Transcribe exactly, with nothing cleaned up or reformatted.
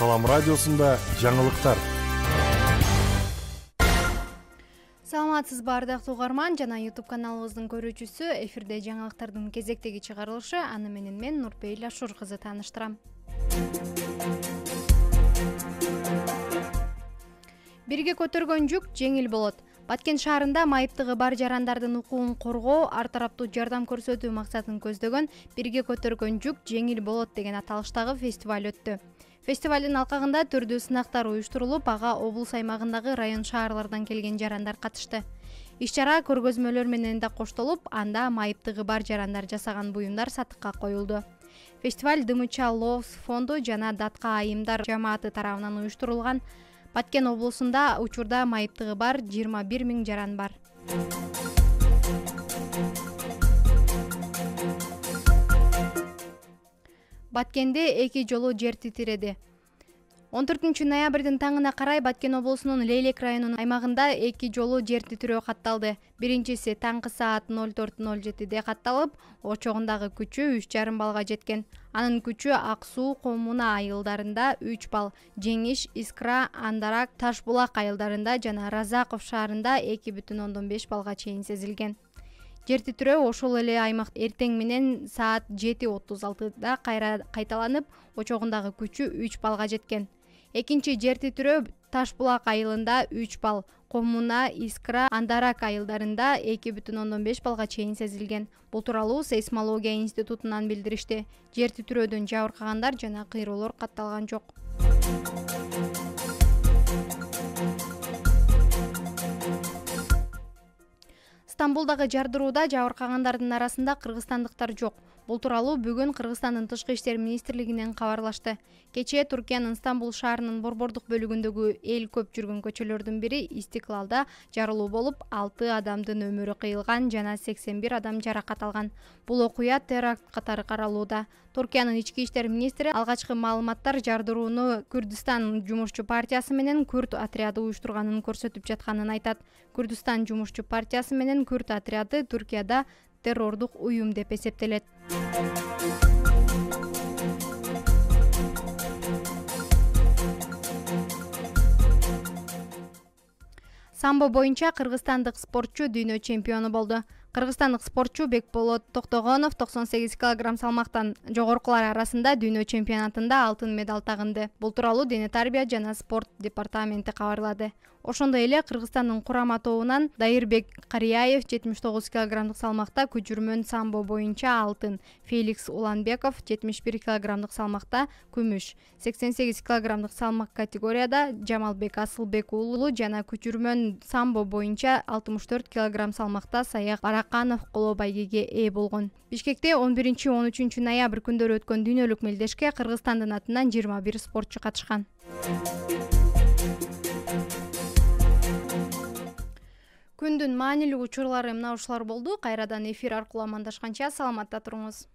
Салам радиосунда жаңылыктар. Саламатсызбы ардактуу угарман жана YouTube каналыбыздын көрүүчүсү. Эфирде жаңылыктардын кезектеги чыгарылышы. Аны менен мен Нурпейил Ашур кызы тааныштырам. Бирге көтөргөн жүк жеңил болот. Баткен шаарында майыптыгы бар жарандардын укугун коргоо, ар тараптуу жардам көрсөтүү максатын көздөгөн Бирге көтөргөн жүк жеңил болот деген аталыштагы фестиваль өттү. Фестивалдын алкагында түрдүү сынактар уюштурулуп, ага облус аймагындагы район шаарлардан келген жарандар катышты. Иш-чара көргөзмөлөр менен да коштолуп, анда майыптыгы бар жарандар жасаган буюмдар сатыкка коюлду. Фестиваль Дымыча Лоос фонду жана Датка айымдар жамааты тарабынан уюштурулган. Баткен облусунда учурда майыптыгы бар жыйырма бир миң жаран бар. Баткенде эки жолу жер титиреди. он төртүнчү ноябрдын таңына карай Баткен облусунун Лейлек районунун аймагында эки жолу жер титирөө катталды. Биринчиси таңкы саат ноль төрт ноль жетиде катталып, очогундагы күчү үч жарым балга жеткен. Анын күчү Ак суу, Коммуна айылдарында үч балл, Жеңиш, Искра, Андарак, Таш булак айылдарында жана Разаков шаарында эки бүтүн ондон беш балга чейин сезилген. Жер титирөө ошол эле аймак эртең менен саат жети отуз алтыда кайра кайталанып, очогундагы күчү үч балга жеткен. Экинчи жер титирөө Таш булак айылында үч балл, Коммуна, Искра, Андарак айылдарында эки бүтүн ондон беш балга чейин сезилген. Бул тууралуу сейсмология институтунан билдиришти. Жер титирөөдөн жабыркагандар жана кыйроолор катталган жок. Стамбулдагы жардырууда жабыркагандардын арасында кыргызстандыктар жок. Бул тууралуу бүгүн Кыргызстандын Тышкы иштер министрлигинен кабарлашты. Кечээ Түркиянын Стамбул шаарынын борбордук бөлүгүндөгү эл көп жүргөн көчөлөрдүн бири Истиклалда жарылуу болуп, алты адамдын өмүрү кыйылган жана сексен бир адам жаракат алган. Бул окуя теракт катары каралууда. Түркиянын ички иштер министри алгачкы маалыматтар жардырууну Күрдүстан жумушчу партиясы менен Күрд отряды уюштурганын көрсөтүп жатканын айтат. Күрдүстан жумушчу партиясы менен Күрд отряды Түркияда террордук уюм деп эсептелет. Самбо боюнча кыргызстандык спортчу дүйнө чемпиону болду. Кыргызстандык спортчу Бекболот Токтогонов токсон сегиз килограмм салмактан жогоркулар арасында дүйнө чемпионатында алтын медаль тагынды. Бул тууралуу Дене тарбия жана спорт департаменти кабарлады. Ошондой эле Кыргызстандын курама тобунан Дайырбек Карияев жетимиш тогуз килограммдык салмакта көчүрмөн самбо боюнча алтын, Феликс Уланбеков жетимиш бир килограммдык салмакта күмүш, сексен сегиз килограммдык салмак категорияда Жамалбек Асылбек уулу жана көчүрмөн самбо боюнча алтымыш төрт килограмм салмакта Саяк Бараканов коло байгеге ээ болгон. Бишкекте он биринчи он үчүнчү ноябрь күндөрү өткөн дүйнөлүк мелдешке Кыргызстандын атынан жыйырма бир спортчу катышкан. Күндүн маанилүү учурлары мына ушулар болду. Кайрадан эфир аркылуу амандашканча саламатта туруңуз.